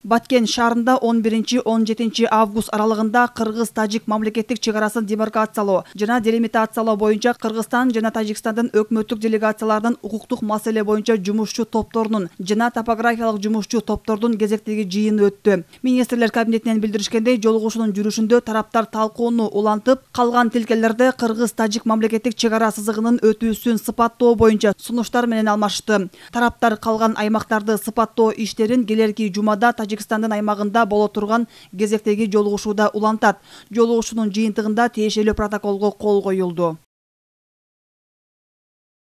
Баткен шаарында 11-17 август аралыгында Кыргыз-Тажик мамлекеттик чегарасын демаркациялоо жана делимитациялоо боюнча Кыргызстан жана Тажикстандын өкмөттүк делегацияларынын укуктук маселе боюнча жумушчу топторунун жана топографиялык жумушчу топтордун кезектеги жыйыны өттү. Министрлер кабинетинен билдиришкендей, жолугушуунун жүрүшүндө тараптар талкууну улантып, калган тилкелерде Кыргыз-Тажик мамлекеттик чегара сызыгынын өтүүсүн сыпаттоо боюнча сунуштар менен алмашты. Тараптар калган аймактарды сыпаттоо иштерин келерки жумада Тажикстандын аймагында боло турган кезектеги жолугушууда улантат. Жолугушуунун жыйынтыгында тиешелүү протоколго кол коюлду.